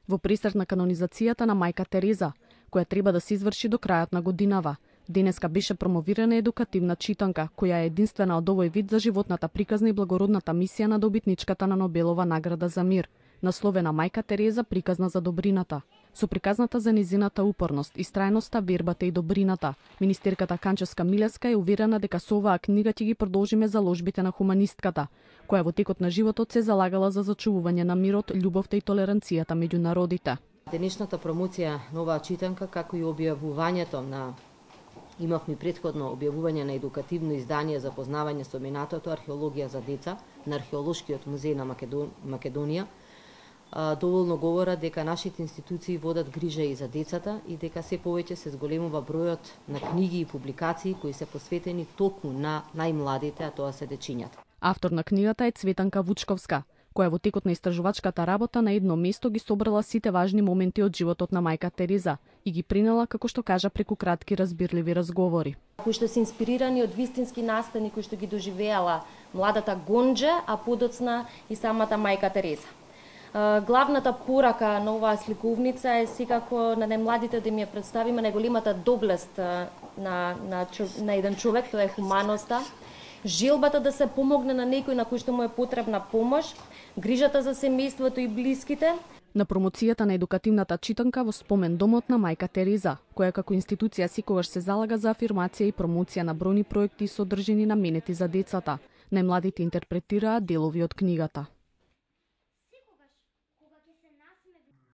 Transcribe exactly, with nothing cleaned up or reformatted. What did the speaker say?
Во пресрет на канонизацијата на мајка Тереза, која треба да се изврши до крајот на годинава, денеска беше промовирана едукативна читанка, која е единствена од овој вид за животната приказна и благородната мисија на добитничката на Нобелова награда за мир, насловена Мајка Тереза приказна за добрината. Со приказната за низината упорност, истрајноста, вербата и добрината, министерката Канчевска Милевска е уверена дека со оваа книга ќе ги продолжиме заложбите на хуманистката, која во текот на животот се залагала за зачувување на мирот, љубовта и толеранцијата меѓу народите. Денешната промоција на оваа читанка, како и објавувањето на Имавме претходно објавување на едукативно издание за познавање со минатото археологија за деца на Археолошкиот музеј на Македонија, доволно говорат дека нашите институции водат грижа и за децата и дека се повеќе се зголемува бројот на книги и публикации кои се посветени токму на најмладите, а тоа се дечињата. Автор на книгата е Цветанка Вучковска, која во текот на истражувачката работа на едно место ги собрала сите важни моменти од животот на мајка Тереза и ги принела, како што кажа, преку кратки разбирливи разговори. Кои што се инспирирани од вистински настани кои што ги доживеала младата Гонџе, а подоцна и самата мајка Тереза. Главната порака на оваа сликовница е секако на најмладите да ми ја представиме најголемата доблест на, на, на еден човек, тоа е хуманоста, желбата да се помогне на некој на кој што му е потребна помош, грижата за семејството и блиските. На промоцијата на едукативната читанка во спомен домот на мајка Тереза, која како институција секогаш се залага за афирмација и промоција на бројни проекти содржини наменети за децата, најмладите интерпретираат делови од книгата.